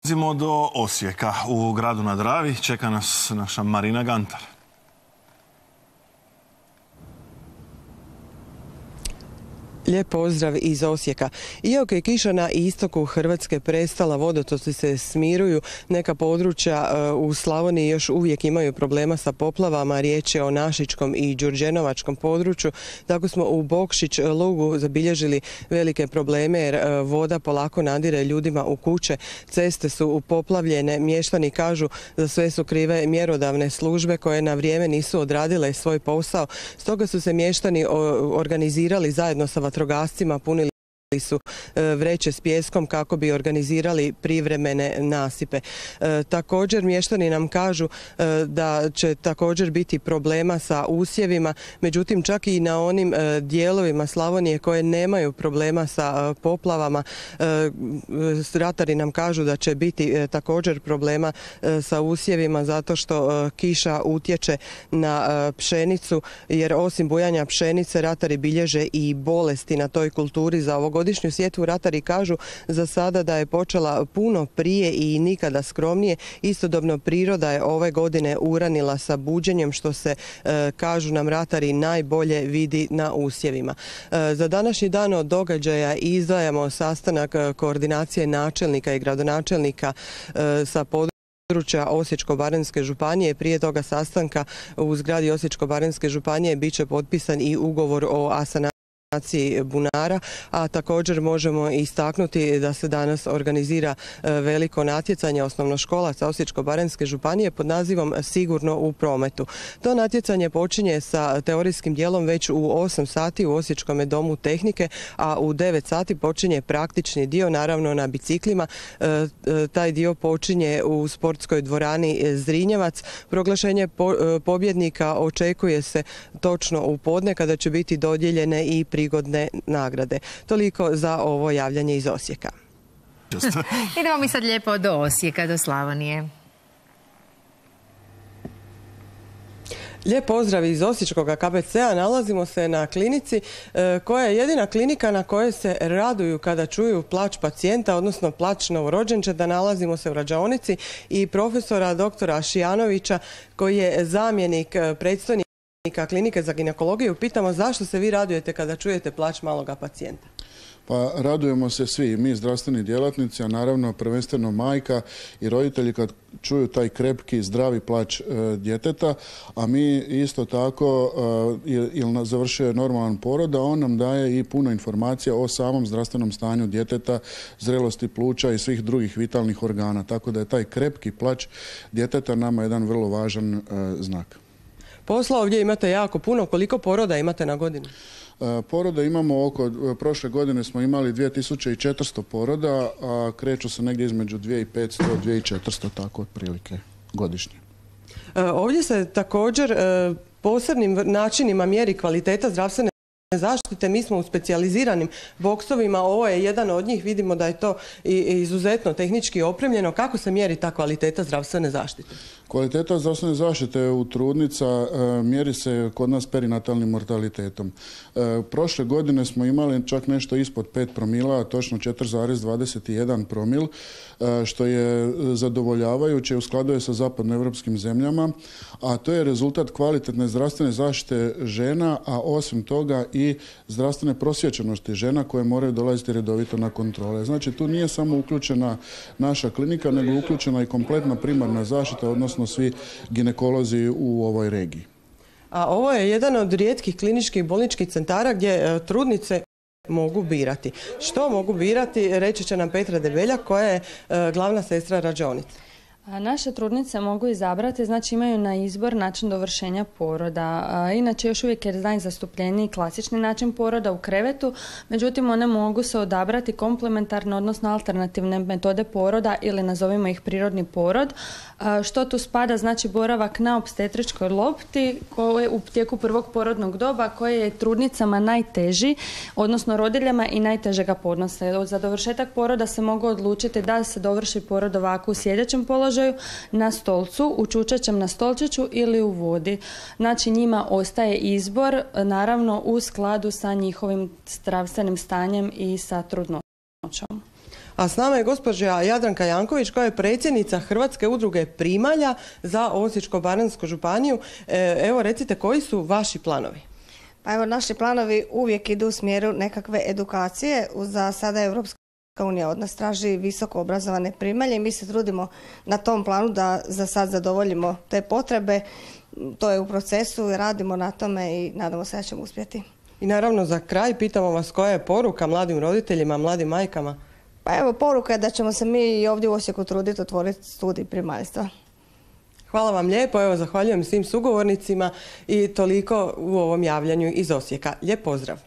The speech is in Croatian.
Dolazimo do Osijeka. U gradu na Dravi čeka nas naša Marina Gantar. Lijep pozdrav iz Osijeka. Iako je kiša na istoku Hrvatske prestala, vodotoci se smiruju, neka područja u Slavoniji još uvijek imaju problema sa poplavama. Riječ je o Našičkom i Đurđenovačkom području. Tako smo u Bokšić lugu zabilježili velike probleme jer voda polako nadire ljudima u kuće. Ceste su poplavljene. Mještani kažu za sve su krive mjerodavne službe koje na vrijeme nisu odradile svoj posao. Stoga su se mještani organizirali zajedno sa vatrogascima, punili su vreće s pijeskom kako bi organizirali privremene nasipe. Također mještani nam kažu da će također biti problema sa usjevima, međutim čak i na onim dijelovima Slavonije koje nemaju problema sa poplavama, ratari nam kažu da će biti također problema sa usjevima zato što kiša utječe na pšenicu, jer osim bujanja pšenice ratari bilježe i bolesti na toj kulturi. Za ovogodišnju sjetvu ratari kažu za sada da je počela puno prije i nikada skromnije. Istodobno priroda je ove godine uranila sa buđenjem, što se, kažu nam ratari, najbolje vidi na usjevima. Za današnji dan od događaja izdvajamo sastanak koordinacije načelnika i gradonačelnika sa područja Osječko-baranjske županije. Prije toga sastanka u zgradi Osječko-baranjske županije bit će potpisan i ugovor o asanaciji bunara, a također možemo istaknuti da se danas organizira veliko natjecanje osnovnoškolaca Osječko-baranjske županije pod nazivom Sigurno u prometu. To natjecanje počinje sa teorijskim dijelom već u 8 sati u Osječkom domu tehnike, a u 9 sati počinje praktični dio, naravno na biciklima. Taj dio počinje u sportskoj dvorani Zrinjevac. Proglašenje pobjednika očekuje se točno u podne kada će biti dodijeljene i prigodne nagrade. Toliko za ovo javljanje iz Osijeka. Idemo mi sad lijepo do Osijeka, do Slavonije. Lijep pozdrav iz Osječkog KBC-a. Nalazimo se na klinici koja je jedina klinika na kojoj se raduju kada čuju plać pacijenta, odnosno plać novorođenčeta. Nalazimo se u rađaonici i profesora doktora Šijanovića koji je zamjenik predstojnika klinike za ginekologiju. Pitamo zašto se vi radujete kada čujete plać maloga pacijenta? Pa radujemo se svi, mi zdravstveni djelatnici, a naravno prvenstveno majka i roditelji kad čuju taj krepki, zdravi plać djeteta, a mi isto tako, ili završio je normalan porod, a on nam daje i puno informacija o samom zdravstvenom stanju djeteta, zrelosti pluća i svih drugih vitalnih organa. Tako da je taj krepki plać djeteta nama jedan vrlo važan znak. Posla ovdje imate jako puno. Koliko poroda imate na godinu? Poroda imamo prošle godine smo imali 2400 poroda, a kreću se negdje između 2500 i 2400, tako otprilike godišnje. Ovdje se također posebnim načinima mjeri kvaliteta zdravstvene zaštite. Mi smo u specijaliziranim boksovima, ovo je jedan od njih, vidimo da je to izuzetno tehnički opremljeno. Kako se mjeri ta kvaliteta zdravstvene zaštite? Kvaliteta zdravstvene zaštite u trudnica mjeri se kod nas perinatalnim mortalitetom. Prošle godine smo imali čak nešto ispod 5 promila, točno 4,21 promil, što je zadovoljavajuće, u skladu je sa zapadnoevropskim zemljama, a to je rezultat kvalitetne zdravstvene zaštite žena, a osim toga i zdravstvene prosvjećenosti žena koje moraju dolaziti redovito na kontrole. Znači tu nije samo uključena naša klinika, nego uključena i kompletna primarna zaštita, odnosno svi ginekolozi u ovoj regiji. A ovo je jedan od rijetkih kliničkih bolničkih centara gdje trudnice mogu birati. Što mogu birati, reći će nam Petra Debeljak koja je glavna sestra rađaonice. Naše trudnice mogu izabrati, znači imaju na izbor način dovršenja poroda. Inače još uvijek je najzastupljeniji klasični način poroda u krevetu, međutim one mogu se odabrati komplementarne, odnosno alternativne metode poroda ili nazovimo ih prirodni porod. Što tu spada, znači boravak na opstetričkoj lopti koje u tijeku prvog porodnog doba koje je trudnicama najteži, odnosno rodiljama i najteže ga podnose. Za dovršetak poroda se mogu odlučiti da se dovrši porod ovako u sjedećem položaju, na stolcu, u čučećem na stolčiću ili u vodi. Znači njima ostaje izbor, naravno u skladu sa njihovim zdravstvenim stanjem i sa trudnoćom. A s nama je gospođa Jadranka Janković koja je predsjednica Hrvatske udruge primalja za Osječko-baranjsku županiju. Evo recite, koji su vaši planovi? Pa evo, naši planovi uvijek idu u smjeru nekakve edukacije. Za sada Europska unija od nas traži visoko obrazovane primalje i mi se trudimo na tom planu da za sad zadovoljimo te potrebe. To je u procesu, radimo na tome i nadamo se da ćemo uspjeti. I naravno za kraj pitamo vas koja je poruka mladim roditeljima, mladim majkama? Pa evo, poruka je da ćemo se mi i ovdje u Osijeku truditi otvoriti studij primaljstva. Hvala vam lijepo, evo zahvaljujem svim sugovornicima i toliko u ovom javljanju iz Osijeka. Lijep pozdrav!